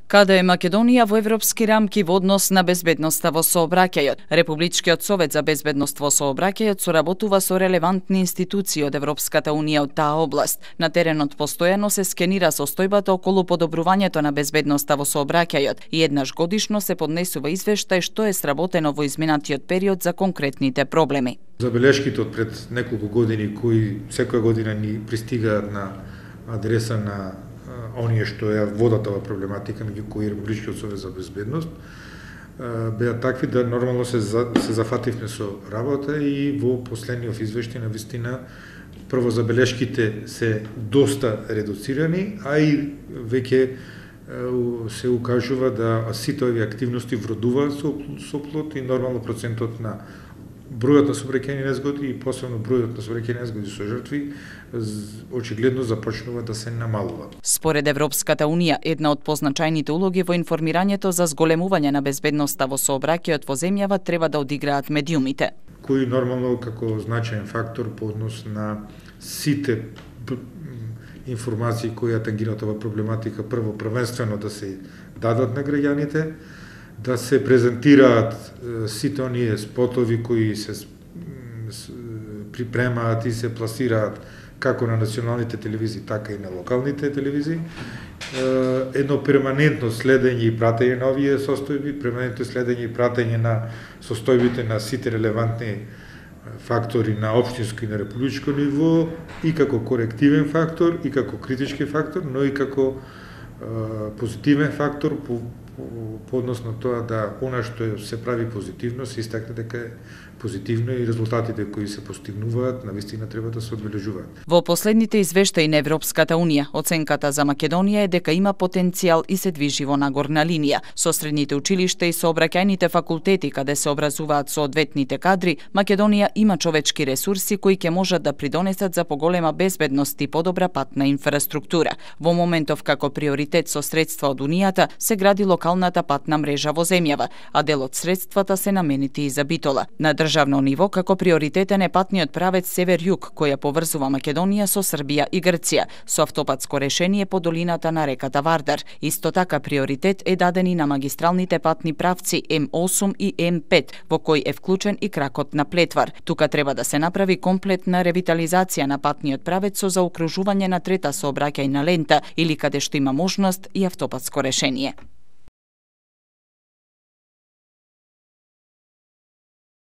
Каде е Македонија во европски рамки во однос на безбедноста во сообраќајот? Републичкиот совет за безбедност во сообраќајот соработува со релевантни институции од Европската унија од таа област. На теренот постојано се скенира состојбата околу подобрувањето на безбедноста во сообраќајот и еднаш годишно се поднесува извештај што е сработено во изминатиот период за конкретните проблеми. Забелешките од пред неколку години кои секоја година ни пристигаат на адреса на оние што ја водат ова проблематика, меѓу кои Републичкиот совет за безбедност, беа такви да нормално се зафативме со работа и во последниот извештај на вистина прво забелешките се доста редуцирани, а и веќе се укажува да сите овие активности вродуваат со плод и нормално процентот на бројот на сообраќајни незгоди и посебно бројот на сообраќајни незгоди со жртви очигледно започнува да се намалува. Според Европската унија, една од позначајните улоги во информирањето за зголемување на безбедноста во сообраќајот во земјава треба да одиграат медиумите, кои нормално како значаен фактор по однос на сите информации кои ја тангираат ова проблематика, прво првенствено да се дадат на граѓаните, да се презентираат сите оние спотови кои се припремаат и се пласираат како на националните телевизии, така и на локалните телевизии. Едно перманентно следење и пратење на овие состојби, перманентно следење и пратење на состојбите на сите релевантни фактори на општинско и на републичко ниво, и како корективен фактор, и како критички фактор, но и како позитивен фактор по однос на тоа да она што се прави позитивно се истакне дека е позитивно и резултатите кои се постигнуваат навистина треба да се одбележуваат. Во последните извештаи на Европската унија, оценката за Македонија е дека има потенцијал и се движи во нагорна линија. Со средните училишта и сообраќајните факултети каде се образуваат соодветните кадри, Македонија има човечки ресурси кои ќе можат да придонесат за поголема безбедност и подобра патна инфраструктура. Во моментов како приоритет со средства од унијата се гради локалната патна мрежа во земјава, а дел од средствата се наменети и за Битола. На државно ниво како приоритетен е патниот правец север-југ која поврзува Македонија со Србија и Грција со автопатско решение по долината на реката Вардар. Исто така приоритет е даден и на магистралните патни правци М8 и М5 во кој е вклучен и кракот на Плетвар. Тука треба да се направи комплетна ревитализација на патниот правец со заокружување на трета сообраќајна лента или каде што има можност и автопатско решение.